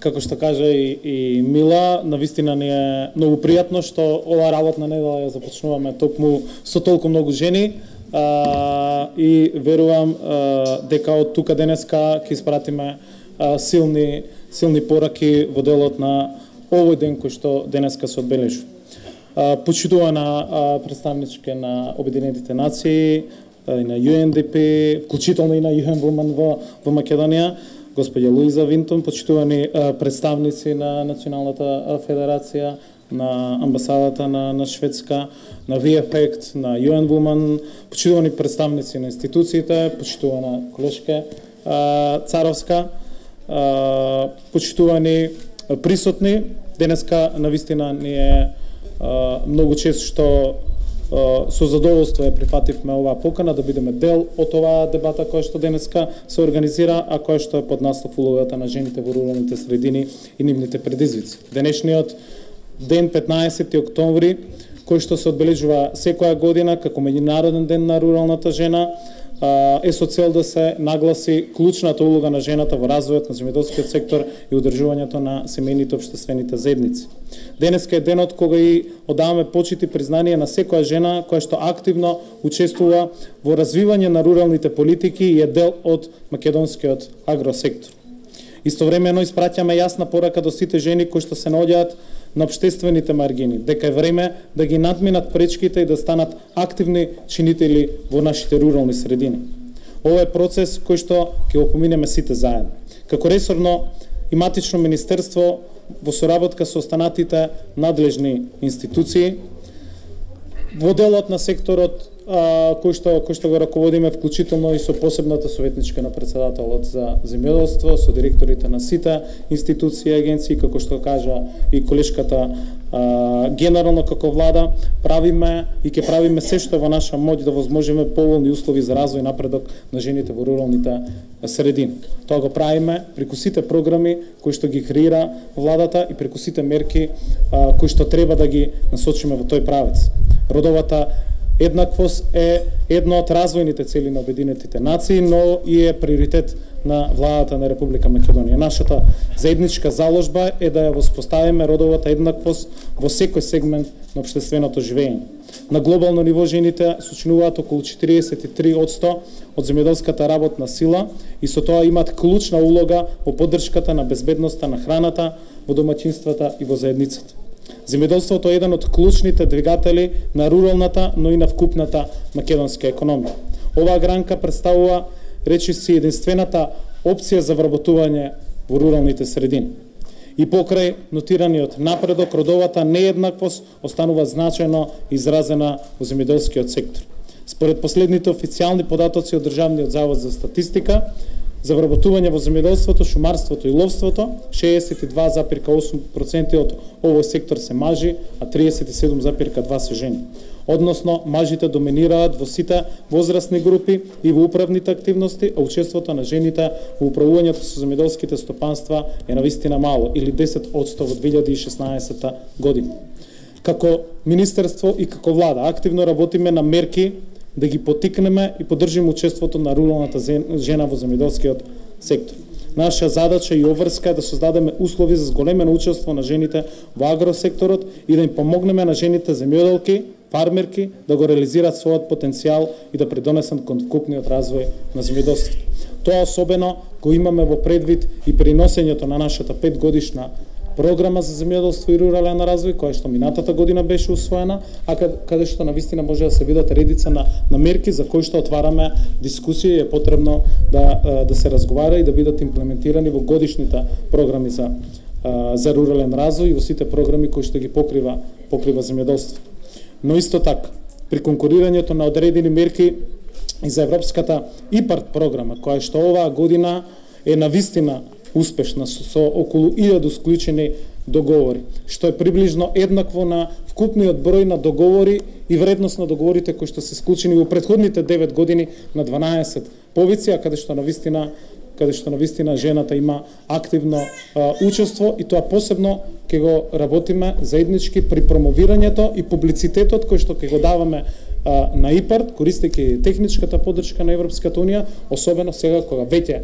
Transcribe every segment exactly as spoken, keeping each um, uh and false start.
како што кажа и, и Мила, навистина ни е многу пријатно што ова работна недела ја започнуваме токму со толку многу жени а, и верувам а, дека од тука денеска ќе испратиме а, силни силни пораки во делот на овој ден кој што денеска се одбележува. Почитувана представничка на Обединетите нации и на Ю Ен Ди Пи, вклучително и на Ю Ен Вумен во, во Македонија, господја Луиза Винтон, почитувани представници на Националната федерација, на амбасадата на, на Шведска, на ви еф ек, на Ю Ен Вумен, почитувани представници на институциите, почитувана колешка Царовска, почитувани присутни. Денеска навистина ни е многу често што со задоволство ја прифативме оваа покана да бидеме дел од оваа дебата која што денеска се организира, а која што е под наслов улогата на жените во руралните средини и нивните предизвици. Денешниот ден петнаесети октомври, кој што се одбележува секоја година како меѓународен ден на руралната жена, е со цел да се нагласи клучната улога на жената во развојот на земјоделскиот сектор и одржувањето на семејните општествените заедници. Денеска е денот кога и одаваме почит и признание на секоја жена која што активно учествува во развивање на руралните политики и е дел од македонскиот агросектор. Истовремено испраќаме јасна порака до сите жени кои што се наоѓаат на општествените маргини, дека е време да ги надминат пречките и да станат активни чинители во нашите рурални средини. Ова е процес кој што ќе го поминеме сите заедно. Како ресорно и матично министерство во соработка со останатите надлежни институции, во делот на секторот а, кој што кој што го раководиме, вклучително и со посебната советничка на председателот за земјоделство, со директорите на сите институции и агенции, како што кажа и колешката, а, генерално како влада правиме и ќе правиме се што е во наша моќ да возможиме поволни услови за развој и напредок на жените во руралните средини. Тоа го правиме преку сите програми кои што ги креира владата и преку сите мерки а, кои што треба да ги насочиме во тој правец. Родовата еднаквост е едно од развојните цели на Обединетите нации, но и е приоритет на владата на Република Македонија. Нашата заедничка заложба е да ја воспоставиме родовата еднаквост во секој сегмент на општественото живење. На глобално ниво жените сочинуваат околу четириесет и три одсто од земјоделската работна сила и со тоа имаат клучна улога во поддршката на безбедноста на храната во домаќинствата и во заедницата. Земјоделството е еден од клучните двигатели на руралната, но и на вкупната македонска економија. Оваа гранка представува, речиси, единствената опција за вработување во руралните средини. И покрај нотираниот напредок, родовата нееднаквост останува значајно изразена во земјоделскиот сектор. Според последните официјални податоци од Државниот завод за статистика, за вработување во земјоделството, шумарството и ловството, шеесет и два зарез осум проценти од овој сектор се мажи, а триесет и седум зарез два се жени. Односно, мажите доминираат во сите возрастни групи и во управните активности, а учеството на жените во управувањето со земјоделските стопанства е навистина мало, или десет одсто во две илјади и шеснаесетта година. Како министерство и како влада активно работиме на мерки да ги потикнеме и поддржиме учеството на руралната жена во земјоделскиот сектор. Наша задача и обврска е да создадеме услови за зголемено учество на жените во агросекторот и да им помогнеме на жените земјоделки, фармерки да го реализираат својот потенцијал и да придонесат кон вкупниот развој на земјоделството. Тоа особено го имаме во предвид и при носењето на нашата петгодишна програма за земјоделство и рурален развој, која што минатата година беше усвоена, а каде што навистина може да се видат редица на, на мерки за кои што отвараме дискусија и е потребно да, да се разговара и да бидат имплементирани во годишните програми за, за рурален развој и во сите програми кои што ги покрива, покрива земјоделството. Но исто така, при конкурирањето на одредени мерки и за Европската ИПАРД програма, која што оваа година е навистина успешна со, со околу илјаду склучени договори, што е приближно еднакво на вкупниот број на договори и вредност на договорите кои што се склучени во претходните девет години на дванаесет повици, а каде што навистина каде што навистина жената има активно а, учество и тоа посебно ќе го работиме заеднички при промовирањето и публицитетот кој што ќе го даваме а, на ИПАРД, користејќи техничката поддршка на Европската унија, особено сега кога веќе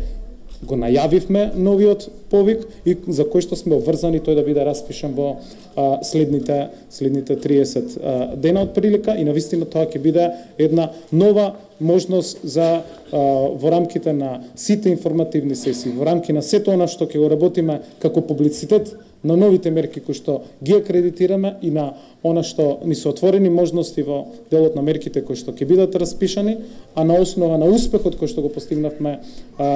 го најавивме новиот повик и за кој што сме обврзани тој да биде распишан во а, следните следните триесет а, дена од прилика и навистина тоа ќе биде една нова можност за а, во рамките на сите информативни сесии, во рамки на сето она што ќе го работиме како публицитет на новите мерки кои што ги акредитираме и на она што ни се отворени можности во делот на мерките кои што ќе бидат распишани, а на основа на успехот кој што го постигнавме а,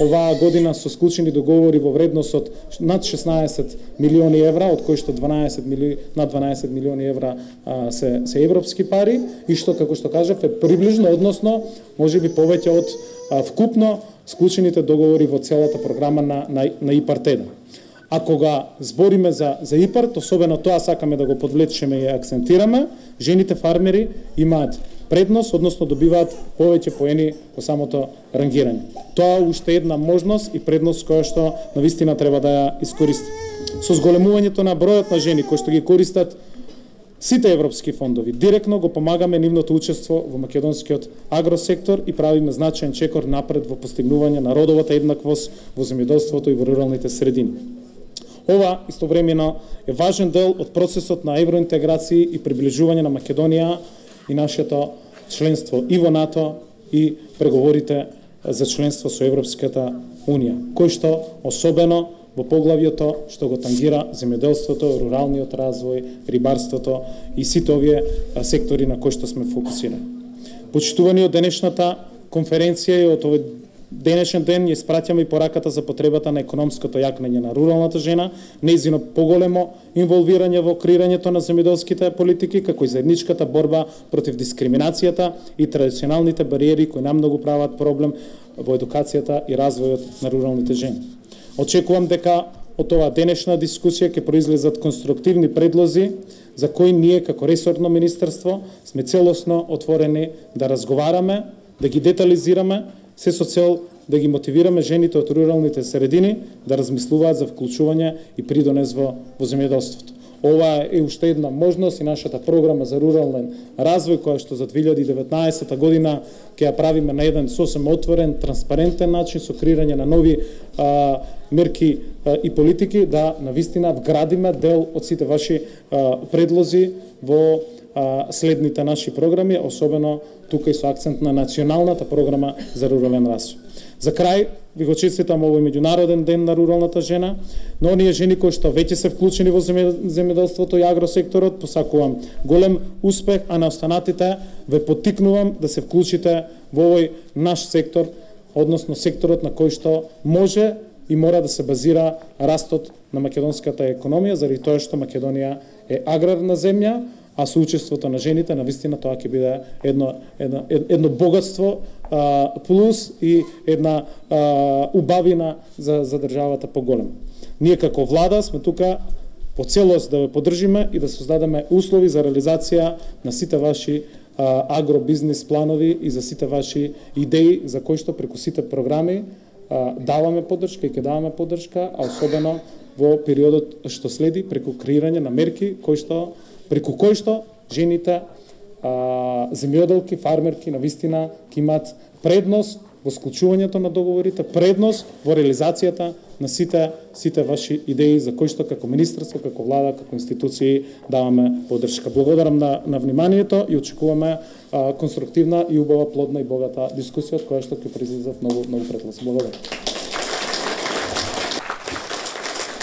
оваа година со склучени договори во вредност од над шеснаесет милиони евра, од кои што дванаесет мили, над дванаесет милиони евра а, се, се европски пари и што, како што кажав, е приближно, односно, можеби повеќе од а, вкупно склучените договори во целата програма на, на, на ИПАРТ-еден. А кога збориме за, за ИПАРТ, особено тоа сакаме да го подвлечеме и акцентираме, жените фармери имаат предност, односно добиваат повеќе поени по самото рангирање. Тоа е уште една можност и предност која што навистина треба да ја искористи. Со зголемувањето на бројот на жени кои што ги користат сите европски фондови, директно го помагаме нивното учество во македонскиот агросектор и правиме значаен чекор напред во постигнување на родовата еднаквост во земјоделството и во руралните средини. Ова истовремено е важен дел од процесот на евроинтеграција и приближување на Македонија и нашето членство и во НАТО и преговорите за членство со Европската Унија, кој што особено во поглавјето што го тангира земјоделството, руралниот развој, рибарството и сите овие сектори на кои што сме фокусирани. Почитувани од денешната конференција и од овој денешен ден ја испраќаме и пораката за потребата на економското јакнење на руралната жена, нејзино поголемо инволвирање во креирањето на земјоделските политики, како и заедничката борба против дискриминацијата и традиционалните бариери кои намногу прават проблем во едукацијата и развојот на руралните жени. Очекувам дека од оваа денешна дискусија ќе произлезат конструктивни предлози за кои ние како ресорно министерство сме целосно отворени да разговараме, да ги детализираме, се со цел да ги мотивираме жените од руралните средини да размислуваат за вклучување и придонес во, во земјоделството. Ова е уште една можност и нашата програма за рурален развој, која што за две илјади и деветнаесетта година ќе ја правиме на еден сосем отворен, транспарентен начин со креирање на нови а, мерки а, и политики, да навистина вградиме дел од сите ваши а, предлози во а, следните наши програми, особено тука и со акцент на националната програма за рурален развој. За крај, ви го честитам овој меѓународен ден на руралната жена, но оние жени кои што веќе се вклучени во земјоделството и агросекторот, посакувам голем успех, а на останатите ве поттикнувам да се вклучите во овој наш сектор, односно секторот на кој што може и мора да се базира растот на македонската економија, заради тоа што Македонија е аграрна земја, а со учеството на жените навистина тоа ќе биде едно едно едно богатство а, плюс и една а, убавина за за државата поголема. Ние како влада сме тука по целост да ве поддржиме и да создадеме услови за реализација на сите ваши а, агробизнис планови и за сите ваши идеи за кои што преку сите програми а, даваме поддршка и ќе даваме поддршка, а особено во периодот што следи преку креирање на мерки кои што преку кој што жените, а, земјоделки, фармерки, навистина ќе имаат предност во склучувањето на договорите, предност во реализацијата на сите сите ваши идеи за кои што како министерство, како влада, како институции даваме поддршка. Благодарам на, на вниманието и очекуваме а, конструктивна и убава, плодна и богата дискусија од која што ќе произлезат многу многу предлози. Благодарам.